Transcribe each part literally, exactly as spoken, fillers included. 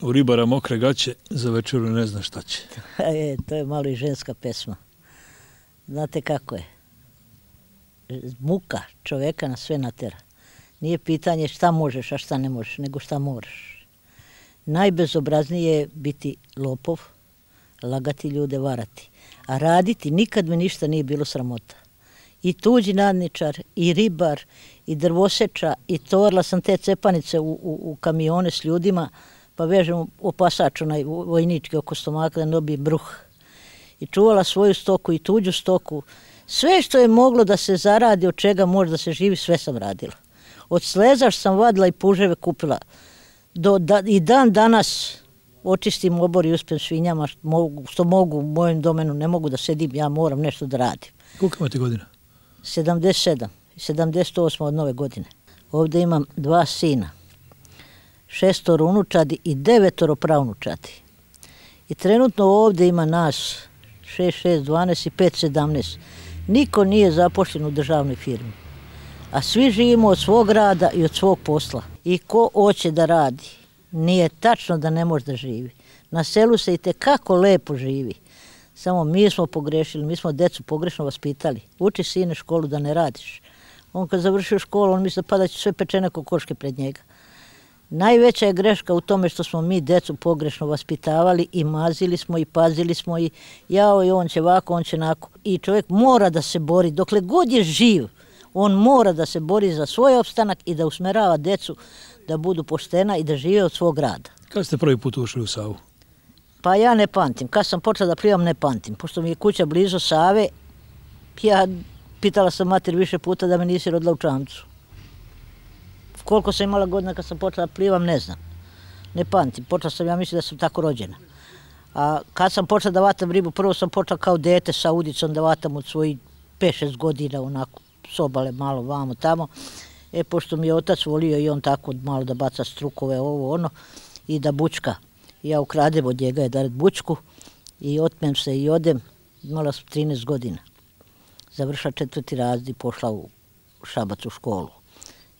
U ribara mokre gaće, za večeru ne zna šta će. E, to je malo i ženska pesma. Znate kako je? Muka čoveka na sve natera. Nije pitanje šta možeš, a šta ne možeš, nego šta moraš. Najbezobraznije je biti lopov, lagati ljude, varati. A raditi nikad mi ništa nije bilo sramota. I tuđi nadničar, i ribar, i drvoseča, i tovarila sam te cepanice u, u, u kamione s ljudima, pa vežem opasač onaj vojnički oko stomaka da ne dobije bruh. I čuvala svoju stoku i tuđu stoku. Sve što je moglo da se zaradi, od čega može da se živi, sve sam radila. Od slezaš sam vadila i puževe kupila. Do, da, I dan danas očistim obor i uspem svinjama što mogu, što mogu u mojem domenu, ne mogu da sedim, ja moram nešto da radim. Koliko imate godina? sedamdeset sedam i sedamdeset osam od nove godine. Ovdje imam dva sina, šestoro unučadi i devetoro pravnučadi. I trenutno ovdje ima nas šest, šest, dvanaest i pet, sedamnaest. Niko nije zapošljen u državnoj firmi. A svi živimo od svog rada i od svog posla. I ko hoće da radi, nije tačno da ne može da živi. Na selu se i tekako lepo živi. Samo mi smo pogrešili, mi smo decu pogrešno vaspitali. Uči sine školu da ne radiš. On kad završio školu, on misli da pada će sve pečene kokoške pred njega. Najveća je greška u tome što smo mi decu pogrešno vaspitavali i mazili smo i pazili smo i jao i on će ovako, on će nako. I čovjek mora da se bori, dokle god je živ, on mora da se bori za svoj opstanak i da usmerava decu da budu poštena i da žive od svog rada. Kada ste prvi put ušli u Savu? Pa ja ne pamtim. Kad sam počela da plivam, ne pamtim. Pošto mi je kuća blizu Save, ja pitala sam mater više puta da me nisi rodila u čamcu. Koliko sam imala godina kad sam počela da plivam, ne znam. Ne pamtim. Počela sam, ja mislim da sam tako rođena. A kad sam počela da vatam ribu, prvo sam počela kao dete sa udicom da vatam od svojih pet šest godina, onako, s obale malo vamo tamo. E, pošto mi je otac volio i on tako malo da baca strukove, ovo, ono, i da bučka. Ja ukradem od njega je da red bučku i otmem se i odem, imala sam trinaest godina. Završila četvrti razred i pošla u Šabac u školu.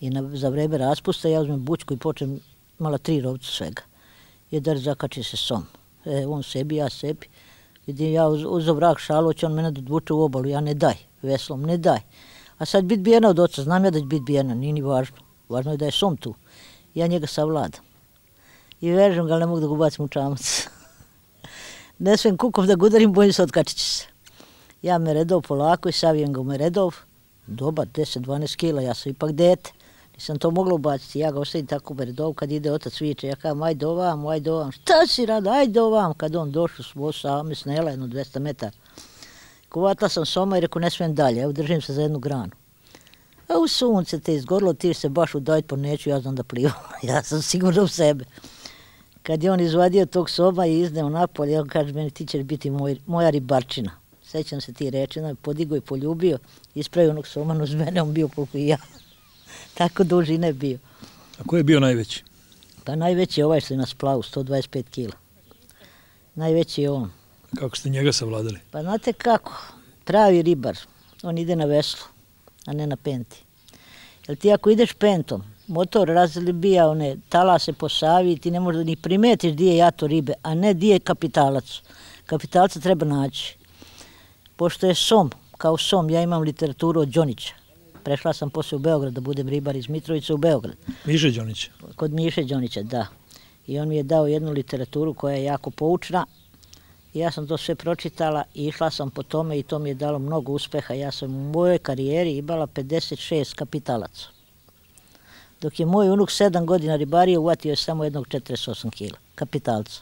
I na, za vreme raspusta ja uzmem bučku i počnem, imala tri rovca svega. Jedan zakači se som. E, on sebi, ja sebi. Vidim, ja uz, uzeo vrak šalu, će on mene da odvuče u obalu, ja ne daj, veslom, ne daj. A sad bit bijena od oca, znam ja da će bit bijena, nije ni važno. Važno je da je som tu. Ja njega savladam. I vežem ga, ali ne mogu da ga ubacim u čamac. Ne smijem kukov da ga udarim, bojim se otkačit će se. Ja me redov polako i savijem ga u me redov. Dobar, deset dvanaest kila, ja sam ipak dete. Nisam to mogla ubaciti, ja ga ostavim tako u me redov, kad ide otac viče, ja kažem, ajde ovam, ajde ovam. Šta si rada, ajde ovam. Kad on došao s vosa, me snela jedno dvesta metara. Kuvatla sam soma i reku, ne smijem dalje, evo držim se za jednu granu. A u sunce te izgorilo, ti se baš udavit po neću, ja znam da plivam. Ja sam sigurno u sebe. Kad je on izvadio tog soba i izneo napolje, on kaže meni, ti ćeš biti moj, moja ribarčina. Sećam se ti reči, on je podigao i poljubio, ispravio onog somanu uz mene, on bio koliko i ja. Tako dužine je bio. A ko je bio najveći? Pa najveći je ovaj što je na splavu, sto dvadeset pet kila. Najveći je on. Kako ste njega savladali? Pa znate kako, pravi ribar, on ide na veslu, a ne na penti. Jer ti ako ideš pentom, motor razbija one talase po Savi i ti ne možda ni primetiš di je jato ribe, a ne di je kapitalac. Kapitalca treba naći. Pošto je som, kao som, ja imam literaturu od Đonića. Prešla sam posle u Beograd da budem ribar iz Mitrovice u Beograd. Miše Đonića? Kod Miše Đonića, da. I on mi je dao jednu literaturu koja je jako poučna. I ja sam to sve pročitala i išla sam po tome i to mi je dalo mnogo uspeha. Ja sam u mojoj karijeri imala pedeset šest kapitalaca. Dok je moj unuk sedam godina ribario, uvatio je samo jednog četrdeset osam kila kapitalca.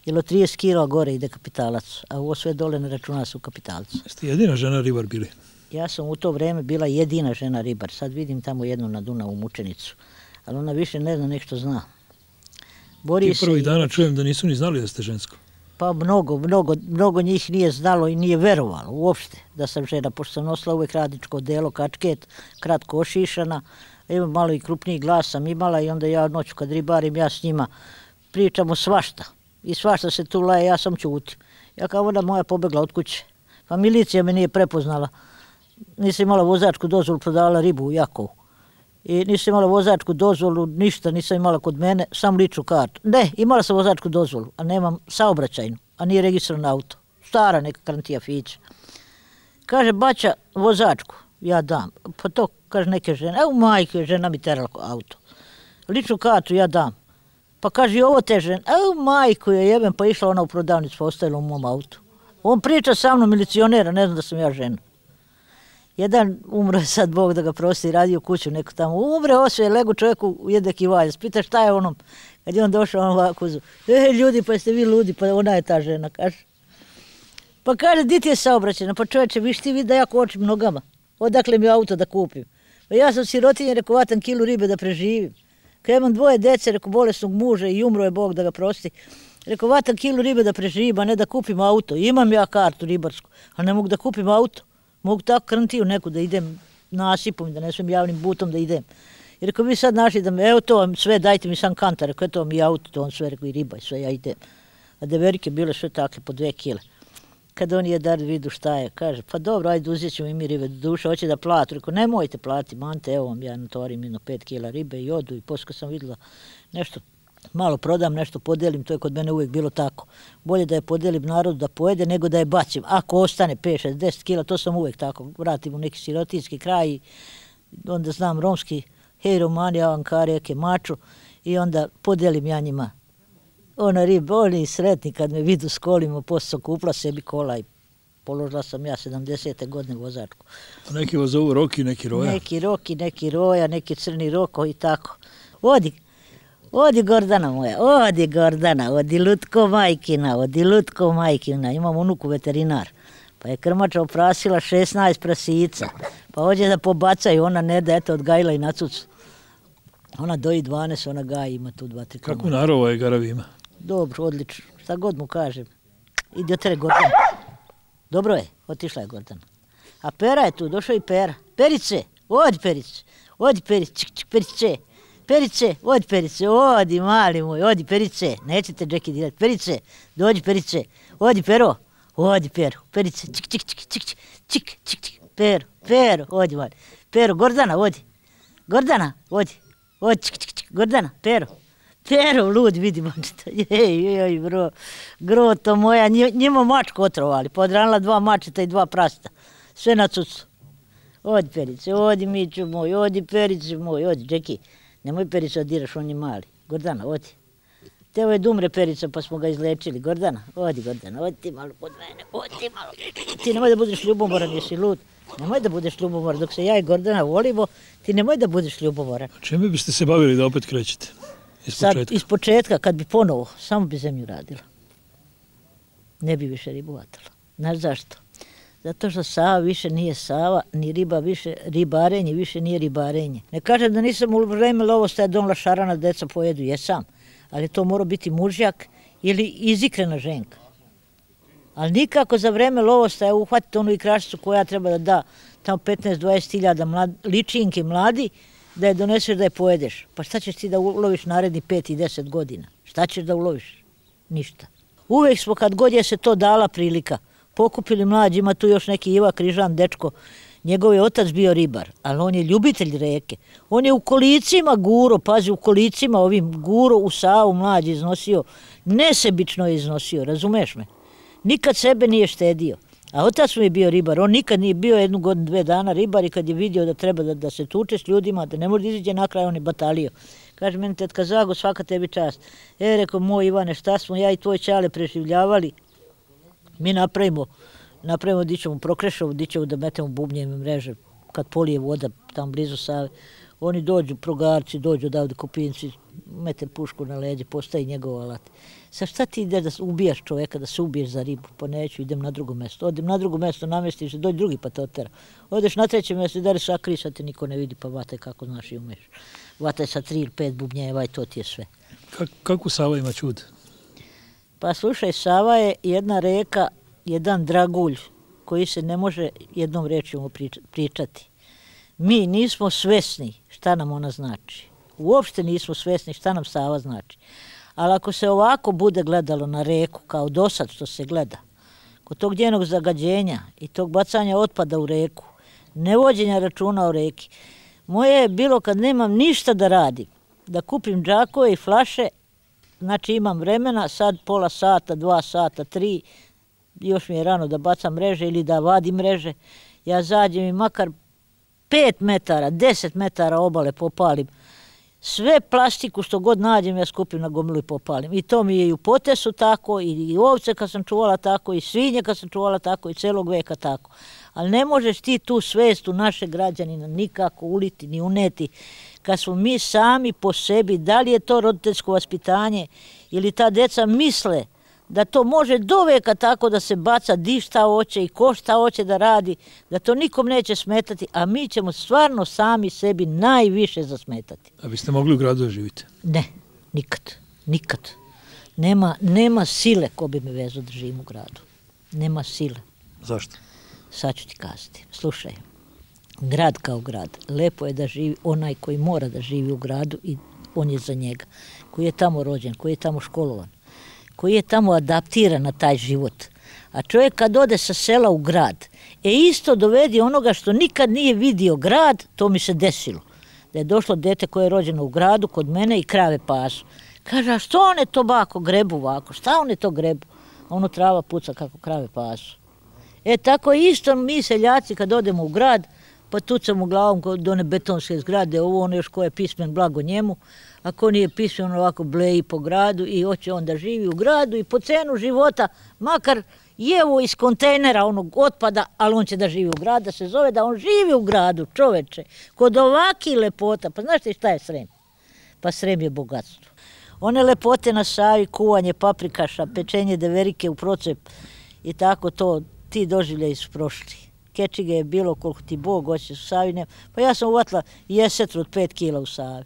Jer od trideset kila gore ide kapitalac, a ovo sve dole ne računa su kapitalca. Jeste jedina žena ribar bili? Ja sam u to vreme bila jedina žena ribar. Sad vidim tamo jednu na Dunavu mučenicu, ali ona više ne zna nešto zna. Bori I prvih dana čujem da nisu ni znali da ste žensko. Pa mnogo, mnogo, mnogo njih nije znalo i nije verovalo uopšte da sam žena, pošto sam nosila uvek radničko delo, kačket, kratko ošišana, imam malo i krupniji glas sam imala i onda ja noću kad ribarim, ja s njima pričamo svašta. I svašta se tu laje, ja sam ćutim. Ja kao ona moja pobegla od kuće. Pa milicija me nije prepoznala. Nisam imala vozačku dozvolu, prodavala ribu u Jakovu. I nisam imala vozačku dozvolu, ništa nisam imala kod mene, sam ličnu kartu. Ne, imala sam vozačku dozvolu, a nemam saobraćajnu, a nije registrovan auto. Stara neka Krantija Fića. Kaže, baća, vozačku, ja dam. Pa to, kaže, neke žene, evo majke, žena mi terala auto. Ličnu kartu ja dam. Pa kaže, i ovo te žene, evo majku je jebem, pa išla ona u prodavnicu, pa ostavila u mom autu. On priča sa mnom, milicionera, ne znam da sam ja žena. Jedan umro je sad, Bog da ga prosti, radio kuću neku tamo. Umre, osve, legu čovjeku u jedek i valja. Spita šta je onom? Kad je on došao, on ovako uzu. E, ljudi, pa jeste vi ludi, pa ona je ta žena, kaže. Pa kaže, di ti je saobraćena? Pa čovječe, viš ti vidi da ja kočim nogama. Odakle mi auto da kupim? Pa ja sam sirotinje, rekao, vatam kilu ribe da preživim. Kad imam dvoje dece, rekao, bolesnog muža i umro je, Bog da ga prosti. Rekao, vatam kilu ribe da preživim, a ne da kupim auto. Imam ja kartu ribarsku, ali ne mogu da kupim auto. Mogu tako Krntiju neku da idem nasipom, da ne smijem javnim butom da idem. I rekao, vi sad našli da me, evo to vam sve, dajte mi sam kantar, rekao, eto mi auto, to on sve, rekao, i riba, i sve, ja idem. A deverike bile sve takle, po dve kile. Kad on je dar vidu šta je, kaže, pa dobro, ajde uzet ćemo i mi ribe, do duše, hoće da platu. Rekao, nemojte plati, mante, evo vam ja natovarim jedno pet kila ribe i odu. I poslije kad sam vidjela nešto, malo prodam, nešto podelim, to je kod mene uvijek bilo tako. Bolje da je podelim narodu da pojede, nego da je bacim. Ako ostane pet, šest, deset kila, to sam uvijek tako. Vratim u neki sirotinski kraj i onda znam romski, hej Romani, ja vam ka reke maču i onda podelim ja njima. Ona riba, oni sretni kad me vidu s kolima, poslije sam kupila sebi kola i položila sam ja sedamdesete godine vozačku. A neki vas zovu Roki, neki Roja? Neki Roki, neki Roja, neki Crni Roko i tako. Odi, odi Gordana moja, odi Gordana, odi Lutko majkina, odi Lutko majkina. Imam unuku veterinar, pa je krmača oprasila šesnaest prasica, pa hoće da pobacaju, ona ne da, eto, odgajila i na cucu. Ona doji dvanaest, ona gaji, ima tu dva, tri komada. Kako narova je Garavi ima? Dobro, odlično, šta god mu kažem. Idi otere Gordana. Dobro je, otišla je Gordana. A Pera je tu, došao i Pera. Perice, odi Perice, odi Perice, čik, čik, Perice. Perice, odi Perice, odi mali moj, odi Perice. Nećete Džeki dirati. Perice, dođi Perice, odi Pero, odi Pero. Perice, čik, čik, čik, čik, čik, čik, čik, Pero, Pero, odi mali. Pero, Gordana, odi. Gordana, odi. Odi, čik, čik, čik, Gordana, Pero. Pero, lud, vidi mačeta. Jej, jej, bro, groto moja, njima mačku otrovali. Podranila dva mačeta i dva prasta. Sve na cucu. Odi Perice, odi Miću moj, odi Perice moj, odi, Džeki. Nemoj Perica odiraš, on je mali. Gordana, odi. Teo je dumre Perica, pa smo ga izlečili. Gordana, odi Gordana, odi ti malo kod mene, odi ti malo. Ti nemoj da budeš ljubomoran, jesi lud. Nemoj da budeš ljubomoran, dok se ja i Gordana volimo, ti nemoj da budeš ljubomoran. Čime biste se bavili da opet krećete? Iz Sad, početka? iz početka, kad bi ponovo, samo bi zemlju radila. Ne bi više ribu vatala. Znaš zašto? Zato što Sava više nije Sava, ni riba više, ribarenje više nije ribarenje. Ne kažem da nisam u vreme lovostaja donela šarana, deca pojedu, jesam. Ali to mora biti mužjak ili izikrena ženka. Ali nikako za vreme lovostaja uhvatiti onu ikrašicu koja treba da da tamo petnaest do dvadeset hiljada mlad, ličinki mladi, da je doneseš da je pojedeš. Pa šta ćeš ti da uloviš naredni pet i deset godina? Šta ćeš da uloviš? Ništa. Uvijek smo, kad god je se to dala prilika, pokupili mlađi, ima tu još neki Iva Križan, dečko, njegov je otac bio ribar, ali on je ljubitelj reke. On je u kolicima guro, pazi, u kolicima ovim guro u Savu mlađi iznosio, nesebično je iznosio, razumeš me? Nikad sebe nije štedio. A otac mu je bio ribar, on nikad nije bio jednu godinu, dve dana ribar i kad je vidio da treba da, da se tuče s ljudima, da ne može da iziđe na kraj, on je batalio. Kaže meni, tetka Zago, svaka tebi čast. E, rekao, moj Ivane, šta smo ja i tvoj čale preživljavali, mi napravimo, napravimo di ćemo prokrešavu, di ćemo da metemo bubnjeve mreže, kad polije voda tam blizu Save. Oni dođu, progarci, dođu odavde Kopinci, mete pušku na leđe, postaje njegov alat. Sa šta ti ide da ubijaš čoveka, da se ubiješ za ribu? Pa neću, idem na drugo mesto. Odem na drugo mesto, namestiš se, dođi drugi pa te otera. Odeš na treće mesto i dare sakri, sad te niko ne vidi, pa vataj kako znaš i umeš. Vataj sa tri ili pet bubnjeva i to ti je sve. Kak, kako Sava ima čud? Pa slušaj, Sava je jedna reka, jedan dragulj koji se ne može jednom rečima pričati. Mi nismo svesni šta nam ona znači. Uopšte nismo svesni šta nam Sava znači. Ali ako se ovako bude gledalo na reku, kao do sad što se gleda, kod tog njenog zagađenja i tog bacanja otpada u reku, nevođenja računa o reki, Moje je bilo kad nemam ništa da radim, da kupim džakove i flaše, znači imam vremena, sad pola sata, dva sata, tri, još mi je rano da bacam mreže ili da vadim mreže, ja zađem i makar pet metara, deset metara obale popalim. Sve plastiku što god nađem ja skupim na gomilu i popalim. I to mi je i u potesu tako, i ovce kad sam čuvala tako, i svinje kad sam čuvala tako, i celog veka tako. Ali ne možeš ti tu svest u naše građanina nikako uliti ni uneti kad smo mi sami po sebi, da li je to roditeljsko vaspitanje ili ta deca misle da to može do veka tako da se baca di šta hoće i ko šta hoće da radi, da to nikom neće smetati, a mi ćemo stvarno sami sebi najviše zasmetati. A biste mogli u gradu da živite? Ne, nikad, nikad. Nema, nema sile ko bi me vezao da živim u gradu. Nema sile. Zašto? Sad ću ti kazati. Slušaj, grad kao grad, lepo je da živi onaj koji mora da živi u gradu i on je za njega, koji je tamo rođen, koji je tamo školovan, koji je tamo adaptiran na taj život. A čovjek kad ode sa sela u grad, e isto dovedi onoga što nikad nije vidio grad, to mi se desilo. Da je došlo dete koje je rođeno u gradu kod mene i krave pasu. Kaže, a što one to bako grebu ovako, šta one to grebu? A ono trava puca kako krave pasu. E tako isto mi seljaci kad odemo u grad, pa tucamo glavom kod one betonske zgrade, ovo ono još ko je pismen, blago njemu, a ko nije pismen, on ovako bleji po gradu i hoće on da živi u gradu i po cenu života, makar jevo iz kontejnera onog otpada, ali on će da živi u gradu, da se zove da on živi u gradu, čoveče, kod ovaki lepota. Pa znaš ti šta je Srem? Pa Srem je bogatstvo. One lepote na Savi, kuvanje paprikaša, pečenje deverike u procep i tako to, ti doživljaji su prošli. Kečige je bilo koliko ti Bog hoće u Savi. Ne. Pa ja sam uvatila jesetru od pet kila u Savi.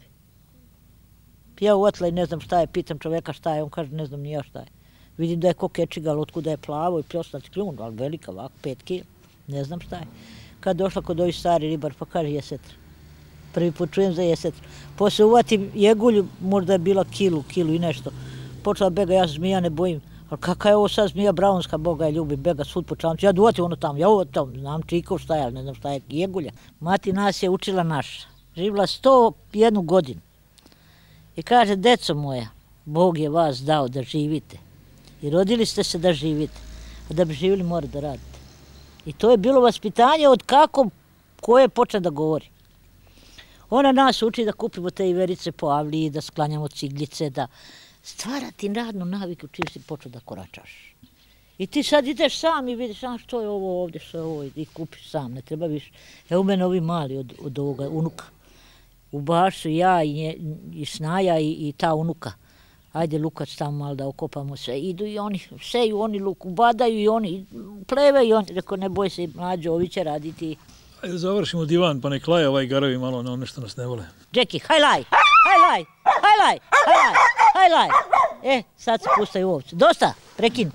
Ja uvatila i ne znam šta je, pitam čoveka šta je, on kaže ne znam ni ja šta je. Vidim da je ko kečiga, ali otkuda je plavo i pljosnati kljun, ali velika ovako, pet kila, ne znam šta je. Kad došla kod ovih stari ribar, pa kaže jesetra. Prvi put čujem za jesetru. Poslije uvatim jegulju, možda je bila kilu, kilu i nešto. Počela bega, ja se zmija ne bojim. Ali kakva je ovo sad zmija braunska, Boga je ljubim, bega svud po čamcu. Ja duvatim ono tamo, ja ovo tamo, znam čikov šta je, ali ne znam šta je, jegulja. Mati nas je učila naša, živjela sto jednu godinu. I kaže, deco moja, Bog je vas dao da živite. I rodili ste se da živite. A da bi živjeli mora da radite. I to je bilo vaspitanje od kako, ko je počeo da govori. Ona nas uči da kupimo te iverice po avliji, da sklanjamo ciglice, da stvarati radnu naviku čim si počeo da koračaš. I ti sad ideš sam i vidiš, a što je ovo ovdje, što je ovo, i kupiš sam, ne treba više. Evo mene ovi mali od, od ovoga unuka. U bašu ja i, nje, i Snaja i, i ta unuka. Ajde Lukac tamo malo da okopamo sve. Idu i oni, seju oni luk, ubadaju i oni, pleve i oni. Rekao, ne boj se, mlađo, ovi će raditi. Ajde završimo divan, pa nek laje ovaj garavi malo na ono što nas ne vole. Džeki, haj laj, haj laj, haj laj, haj laj, haj laj. E, sad se pustaju ovce. Dosta, prekin.